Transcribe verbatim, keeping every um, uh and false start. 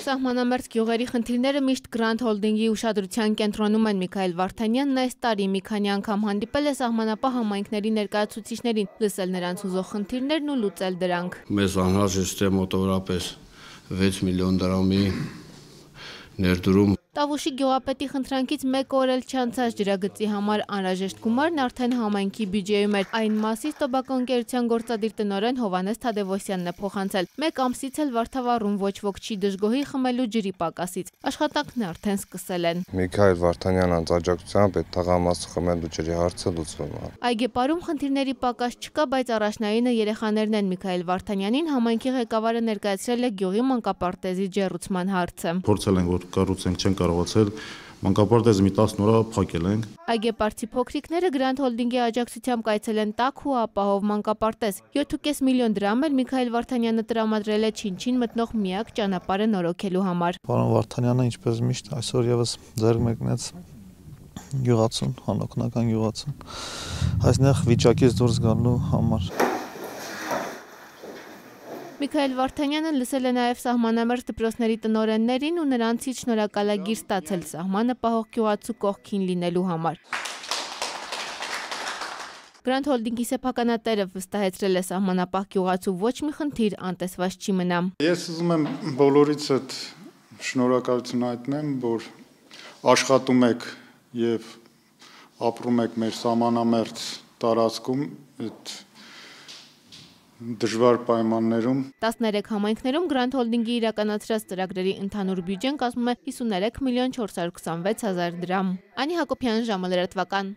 Սահմանամերձ գյուղերի խնդիրները միշտ Grand Holding-ի ուշադրության կենտրոնում են։ Միքայել Վարդանյանն այս տարի մի քանի անգամ հանդիպել է սահմանապահ համայնքների ներկայացուցիչներին, լսել նրանց ուզող խնդիրներն ու լուծել դրանք։ Մեզ անհրաժեշտ է մոտավորապես վեց միլիոն դրամի ներդրում։ Տավուշի գյուղապետի խնդրանքից մեկ օր էլ չանցած ջրագծի համար անհրաժեշտ գումարն արդեն համայնքի բյուջեում էր։ Այն մասից տոբական ընկերության գործադիր տնօրեն Հովհաննես Թադևոսյանն է փոխանցել։ Մեկ ամսից էլ Վարդավառում ոչ ոք չի դժգոհի խմելու ջրի պակասից։ Աշխատանքն արդեն սկսել են։ Միքայել Վարդանյան անձաջակցությամբ այդ թղամասը խմելու ջրի հարցը լուծվում է։ Այգեպարում խնդիրների պակաս չկա, բայց առաջնայինը երեխաներն են։ Միքայել Վարդանյանին համայնքի ղեկավարը ներկայացրել է գյուղի մանկապարտեզի ջեռուցման հարցը։ Փորձել ենք որ կառուցենք չեն կարողացել, մանկապարտեզը մի տասն օր փակել ենք։ Այգեպարցի փոքրիկները Grand Holding-ի աջակցությամբ կայցել են տաք ու ապահով մանկապարտեզ։ յոթ ու կես միլիոն դրամ էլ Միքայել Վարդանյանը տրամադրել է Չինչին մտնող միակ ճանապարհը նորոգելու համար։ Պարոն Վարդանյանը ինչպես միշտ այսօր եւս ձեռք մեկնեց գյուղացուն, հանոկնական գյուղացուն, այսնեղ վիճակից դուրս գալու համար։ Միքայել Վարդանյանը լսել է նաև սահմանամերձ դպրոցների տնօրեններին ու նրանցից շնորհակալագիր ստացել սահմանը պահող գյուղացու կողքին լինելու համար։ Grand Holding-ի սեփականատերը վստահեցրել է սահմանապահ գյուղացու ոչ մի խնդիր անտեսված չի մնա։ Ես ուզում եմ բոլորից այդ շնորհակալություն հայտնեմ, որ աշխատում եք եւ ապրում եք մեր սահմանամերձ տարածքում այդ դժվար պայմաններում։ տասներեք համայնքներում Grand Holding-ի իրականացրած ծրագրերի ընդհանուր բյուջեն կազմում է հիսուներեք միլիոն չորս հարյուր քսանվեց հազար դրամ։ Անի Հակոբյան, ժամը լրատվական։